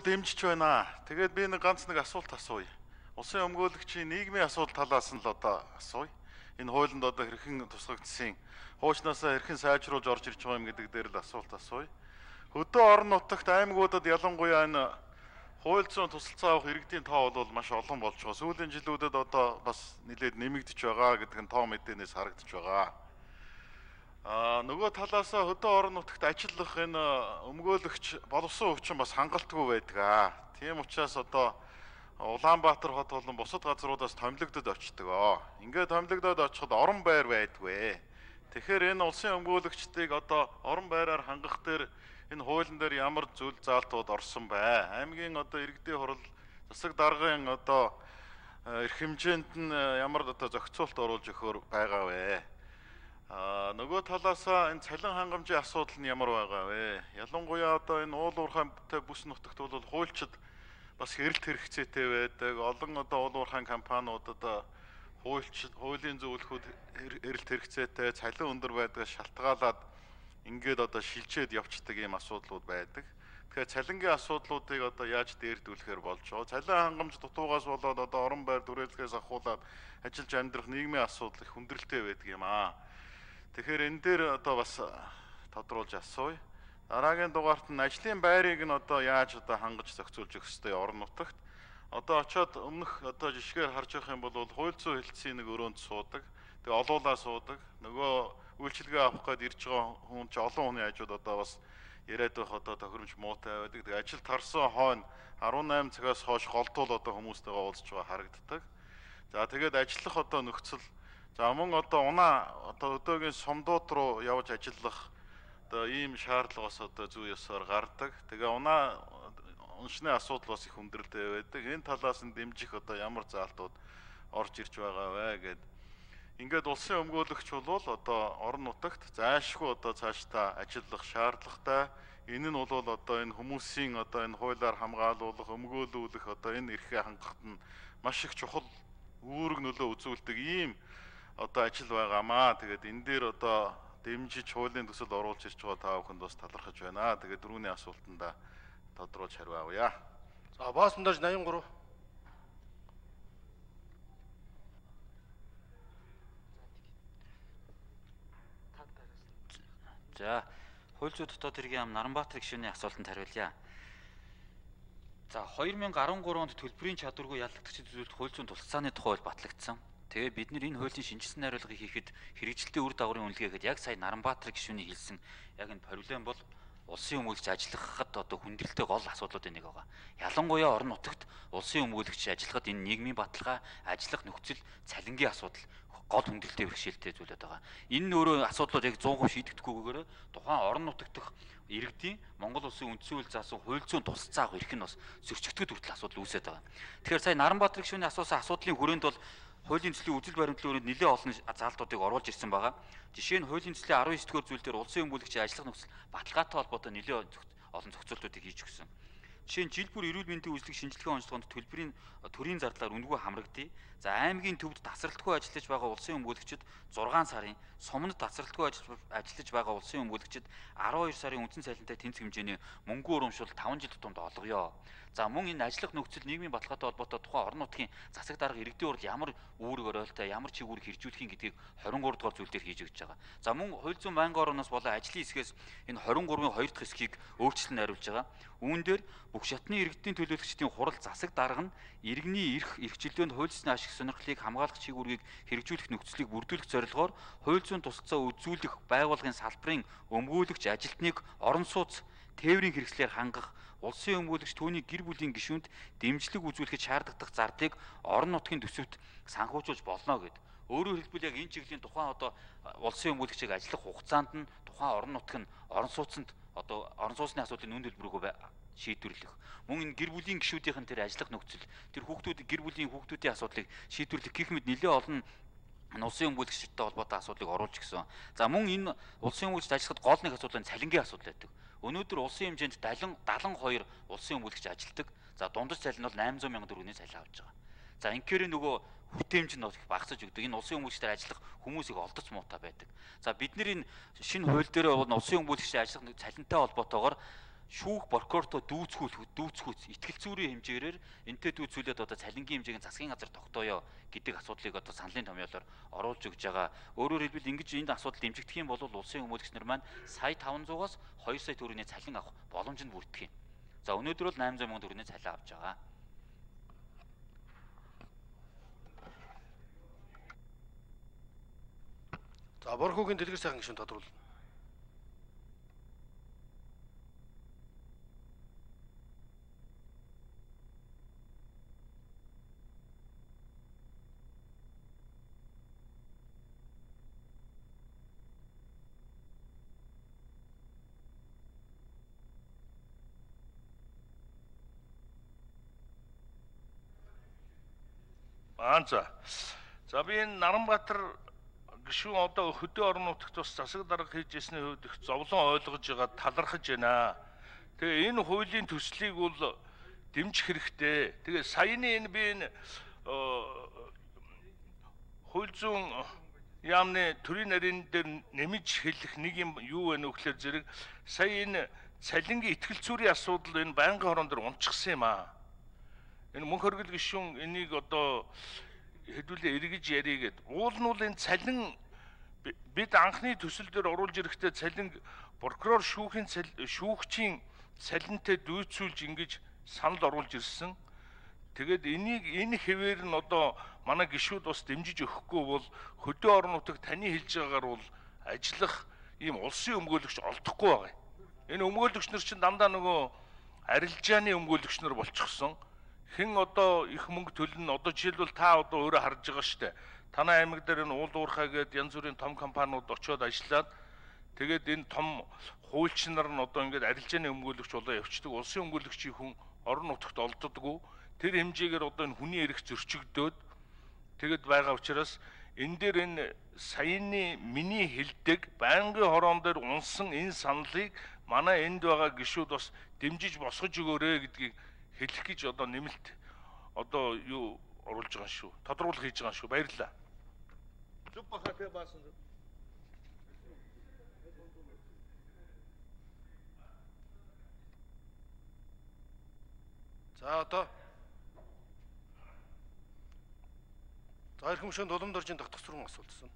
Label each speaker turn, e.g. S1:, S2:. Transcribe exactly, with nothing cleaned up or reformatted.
S1: дэмжиж байна. Тэгээд би нэг ганц нэг асуулт асууя. Улсын өмгөөлөгчийн нийгмийн асуудал талаас нь л одоо асууя. Энэ хуулинд одоо хэрхэн тусгагдсан, хуучнаасаа хэрхэн сайжруулж орж ирж байгаа юм гэдэг дээр л асуулт асууя. Хөдөө орон нутагт аймагуудад ялангуяа энэ хууль зүйн тусалцаа авах иргэдийн тоо бол маш олон болж байгаа. Сүүлийн жилүүдэд одоо бас нэлээд нэмэгдэж байгаа гэдэг нь тоо мэдээнээс харагдаж байгаа. Аа нөгөө талаасаа хөдөө орон нутагт ажиллах энэ өмгөөлөгч боловсон өвчин бас хангалтгүй байдаг аа. Тийм учраас одоо Улаанбаатар хот болон бусад газруудаас томилогдод очдог. Ингээд томилогдоод очиход орон байр байдгүй. Тэгэхээр энэ улсын өмгөөлөгчдийг одоо орон байраар хангах дээр энэ хуулийн дээр ямар зүйл заалтууд орсон бай. Аймгийн одоо иргэдийн хурал засаг даргын одоо эрх хэмжээнд нь ямар одоо зохицуулт оруулж өгөхөр байгаа вэ? Аа нөгөө талаасаа энэ цалин хангамжийн асуудал нь ямар байгаа вэ? Ялангуяа одоо энэ уул уурхайтай бүс нутагт бол хуульчид бас хэрэлт хэрэгцээтэй байдаг. Олон одоо уул уурхайн компаниудад хуульч хуулийн зөвлөхүүд хэрэлт хэрэгцээтэй, цалин өндөр байдгаас шалтгаалаад ингээд одоо шилжээд явцдаг ийм асуудлууд байдаг. Тэгэхээр цалингийн асуудлуудыг одоо яаж дээрдүүлэхээр болж байгаа? Цалин хангамж дутуугаас болоод одоо орон байр түрээлгээс ахуулаад ажиллаж амьдрах нийгмийн асуудал их хүндрэлтэй байдаг юм аа. Тэгэхээр энэ дээр одоо бас тодруулж асууя. Дараагийн дугаарт нь ажлын байрыг нь одоо яаж одоо хангаж зохицуулж өгөх ёстой орон нутагт. Одоо очиод өмнөх одоо жишгээр харж байгаа юм бол хууль зүйн хэлтсийн нэг өрөөнд суудаг. Тэгээ олуулаа суудаг. Нөгөө үйлчилгээ авах гээд ирж байгаа хүн ч олон хүний хажууд одоо бас яриад байх одоо тохиромж муутай байдаг. Тэгээ ажил тарсан хойно арван найман цагаас хойш голдуул одоо хүмүүстэйгээ уулзж байгаа харагддаг. За тэгээд ажиллах одоо нөхцөл за мөн одоо унаа одоо өдөөгийн сумдууд руу явж ажиллах одоо ийм шаардлагаас одоо зүй ёсоор гардаг. Тэгээ унаа уншны асуудал бас их хүндрэлтэй байдаг. Энэ талаас нь дэмжих одоо ямар заалтууд орж ирж байгаа вэ гэд. Ингээд улсын өмгөөлөгч бол одоо орон нутагт зайлшгүй одоо цаашдаа ажиллах шаардлагатай. Энэ нь бол одоо энэ хүмүүсийн одоо энэ хуулиар хамгаалуулах, өмгөөлүүлэх одоо энэ эрхээ хангахад нь маш их чухал үүрэг нөлөө үзүүлдэг ийм одоо ажил байгаамаа. Тэгээд энэ дээр одоо дэмжиж хуулийн төсөл оруулж ирж байгаа та бүхэнд бас талархаж байна. Тэгээд дөрөвний асуултанда тодруулж хариу авъя.
S2: За баасандаж восемьдесят три.
S3: За хууль зүйн дотоод хэргийн ам Наранбаатар гишүүний асуултанд хариулъя. За две тысячи десять онд төлбөрийн чадваргүй ялагдагчид үзүүлэлт хууль зүйн тусалцааны тухай батлагдсан. Тэгээ бид нар энэ хуулийн шинжилсэн найруулгыг хийхэд хэрэгжилтийн үр дагаврын үнэлгээгээд яг сая Наранбаатар гишүүний хэлсэн яг энэ проблем бол улсын өмгөөлөгч ажиллахад одоо хүндрэлтэй гол асуудлуудын нэг байгаа. Ялангуяа орон нутагт улсын өмгөөлөгч ажиллахад энэ нийгмийн баталгаа, ажиллах нөхцөл, цалингийн асуудал гол хүндрэлтэй бэрхшээлтэй зүйлээд байгаа. Энэ өөрөө асуудлууд яг сто процент шийдэгдэхгүйгээр тухайн орон нутагт дэх иргэдийн Монгол улсын үндсэн хууль заасан хууль зүйн тусалцаа авах эрх нь бас зөрчигдөхөд хүртэл асуудал үүсээд байгаа. Тэгэхээр сая Наранбаатар гишүүний асуусан асуудлын хүрээнд бол хуулийн төслийн үзэл баримтлалын өрөөнд нэлээд олон заалтуудыг оруулж ирсэн байгаа. Жишээ нь хуулийн төслийн дөрвөн дугаар зүйл дээр улсын өмгөөлөгчийн ажиллах нөхцөл баталгаатай холбоотой нэлээд олон зохицуултуудыг хийж өгсөн. Жишээ нь жил бүр эрүүл мэндийн үйлчлэг шинжилгээ онцлогоонд төлбөрийн төрийн зардлаар үндгүй хамрагдъя. За аймгийн төвд тасралтгүй ажиллаж байгаа улсын өмгөөлөгчид зургаан сарын, суманд тасралтгүй ажиллаж байгаа улсын өмгөөлөгчид арван хоёр сарын үндсэн цалинтай тэнцэх хэмжээний мөнгө урамшуул таван жил тутамд олгоё. За мөн энэ ажиллах нөхцөл нийгмийн баталгаатай холбоотой тухайн орон нутгийн засаг дарга иргэдийн урд ямар үүрэг оройлтой, ямар чиг үүрэг хэрэгжүүлэхийн гэдгийг двадцать три дугаар зүйл дээр хийж өгч байгаа. За мөн хууль зүйн байнгын орноос болон ажлын хэсгээс энэ двадцать три-ийн хоёр дахь хэсгийг өөрчлөлт найруулж байгаа. Үүн дээр бүх шатны иргэдийн төлөөлөгчдийн хурал засаг дарга нь иргэний эрх, эрхчлөөнд хуульчны ашиг сонирхлыг хамгаалах чиг үүргийг хэрэгжүүлэх нөхцөлийг бүрдүүлэх зорилгоор хууль зүйн тусалцаа үзүүлэх байгууллагын салбарын өмгөөлөгч ажилтныг орон сууц тээврийн хэрэгслээр хангах, улсын өмгөөлөгч түүний гэр бүлийн гишүүнд дэмжлэг үзүүлэхэд шаардлагатай зардыг орон нутгийн төсөвт санхүүжүүлж болно гэд. Өөрөөр хэлбэл яг энэ чиглэлийн тухайн одоо улсын өмгөөлөгчийг ажиллах хугацаанд нь тухайн орон нутг нь орон сууцнд одоо орон сууцны асуудлын үн төлбөрөөгөө шийдвэрлэх. Мөн энэ гэр бүлийн гишүүдийн тэр ажиллах нөхцөл, тэр хүүхдүүд гэр бүлийн хүүхдүүдийн асуудлыг шийдвэрлэх гэх мэт нэлээд олон улсын өмгөөлөгчтэй холбоотой асуудлыг оруулж гисэн. За мөн энэ улсын өмгөөлөгчд ажиллахад гол нэг асуудал нь цалингийн асуудал байдаг. Өнөөдөр улсын хэмжээнд седьмидесяти хоёр улсын өмгөөлөгч ажилладаг. За дундаж цалин бол восемьсот мянган төгрөгийн цалин авч байгаа. За инхээр нөгөө хүртээмж нь их багасж өгдөг. Энэ улсын өмгөөлөгчдээр ажиллах хүмүүсийг олдоц муутай байдаг. За бид нар энэ шинэ хууль дээр бол улсын өмгөөлөгчдийн ажиллах цалинтай холбоотойгоор шүүх прокуратуртоо дүүцгүүл дүүцгүүц итгэл зүйрийн хэмжээгээр энтэй дүүцүүлээд одоо цалингийн хэмжээг засгийн газар тогтооё гэдэг асуудлыг одоо саналын томьёолоор оруулж өгж байгаа. Өөрөөр хэлбэл ингэж энд асуудал дэмжигдэх юм бол улсын өмгөөлөгч нар маань сая таван зугаас хоёр сая төгрөгийн цалин авах боломжинд бүрдэх юм. За өнөөдөр бол найман зуун мянган төгрөгийн цалин авч байгаа.
S2: За Борхогийн дэлгэр сайхан гишүүн тодруулна.
S4: Аа за. За би энэ Наранбаатар гишүүн одоо хөдөө орон нутагт бас засаг дарга хийж ирсний хувьд их зовлон ойлгож байгаа талархаж байна. Тэгээ энэ хуулийн төслийг бол дэмжих хэрэгтэй. Тэгээ саяны энэ би энэ хууль зүйн яамны төрийн нарийн дээр нэмж хэлэх нэг юм юу вэ нөхлөөр зэрэг сая энэ цалингийн итгэл зүйрийн асуудал энэ байнгын хорон дээр унчихсан юм аа. Энэ мөнх хөргөл гишүүн энийг одоо хэдүүлээ эргэж ярий гэд. Уул нь бол энэ цалин бид анхны төсөл дээр оруулж ирэхдээ цалин прокурор шүүхийн шүүгчийн цалинтай дүүцүүлж ингэж санал оруулж ирсэн. Тэгээд энийг энэ хэвээр нь одоо манай гишүүд бас дэмжиж өгөхгүй бол хөдөө орон нутаг таны хэлж байгаагаар бол ажиллах ийм улсын өмгөөлөгч олдохгүй байгаа. Энэ өмгөөлөгч нар чинь дандаа нөгөө арилжааны өмгөөлөгч нар болчихсон. Хэн одоо их мөнгө төлнө одоо жишээлбэл та одоо өөрөө харж байгаа шүү дээ. Танай аймаг дээр энэ уул уурхай гэдэг янз бүрийн том компаниуд очиод ажиллаад тэгээд энэ том хуульч нар нь одоо ингээд арилжааны өмгөөлөгч болоо явцдаг. Улсын өмгөөлөгчийн хүн орон нутагт олддоггүй. Тэр хэмжээгээр одоо энэ хүний эрх зөрчигдөөд тэгэд байгаа учраас энэ дээр энэ саяны миний хэлдэг байнгын хорон дээр унсан энэ саналыг манай энд байгаа гишүүд бас дэмжиж босгож өгөөрэй гэдгийг хэлэх гэж одоо нэмэлт одоо юу оруулж байгаа шүү. Тодруулах хийж байгаа шүү. Баярлалаа. Зүг бахаа баасан.
S2: За одоо за ирэх хөмшөнд улам доржийн тогтох сургууль асуултсан.